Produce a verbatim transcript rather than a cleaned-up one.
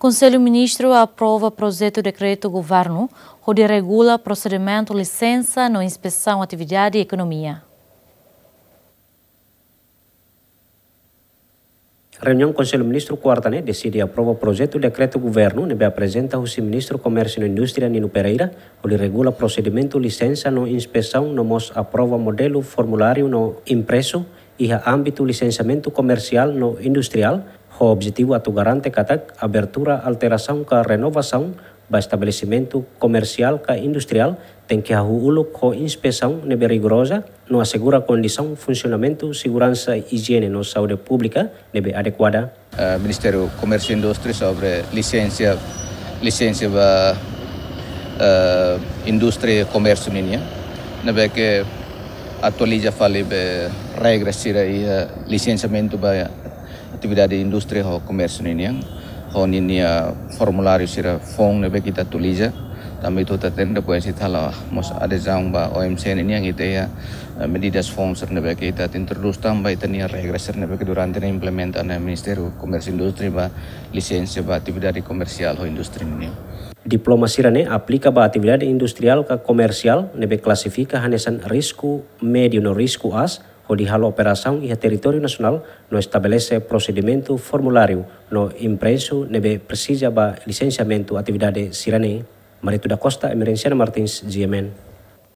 Konsellu Ministru aprova projetu dekretu governu hodi regula prosedimentu lisensa no inspesaun atividade ekonomia. Reuniaun Konsellu Ministru kuarta ne'e deside aprova projetu dekretu governu ne'ebé aprezenta husi Ministru Komérsiu no Indústria Nino Pereira, hodi regula prosedimentu lisensa no inspesaun no mós aprova modelu formuláriu no impresu iha ámbitu lisensiamentu komersiál no industriál, ho objetivu atu garante katak abertura, alterasaun ka renovasaun ba estabelesimentu komersiál ka industriál tenke hahú uluk ho inspesaun ne'ebé rigoroza no asegura kondisaun funsionamentu seguransa, ijiene no saúde públika ne'ebé adekuada. Eh, Ministériu Komérsiu Indústria sobre lisensa, lisensa ba, eh, indústria komérsiu nian, ne'ebé ke atualiza fali be regra sira iha lisensiamentu ba atividade indústria ho komérsiu nian. Ho ninia formuláriu sira foun ne'ebé ke ita atualiza. Tanba ita hatene depois ita halo mós adezaun ba O M C nian, ita iha, eh, medidas foun sira ne'ebé ke ita introdús tanba ita-nia regra sira ne'ebé ke durante ne'e implementa ona Ministériu Komérsiu Indústria ba lisensa ba atividade komersiál ho indústria nian. Diploma sira-ne'e aplika ba atividade industriál ka komersiál ne'ebé klasifika hanesan risku médiu no risku aas, hodi halo operasaun iha territóriu nasionál no estabelese prosedimentu formuláriu no impresu ne'ebé presiza ba lisensiamentu atividade sira-ne'e. Marito da Costa, Emerenciana Martins, G M N.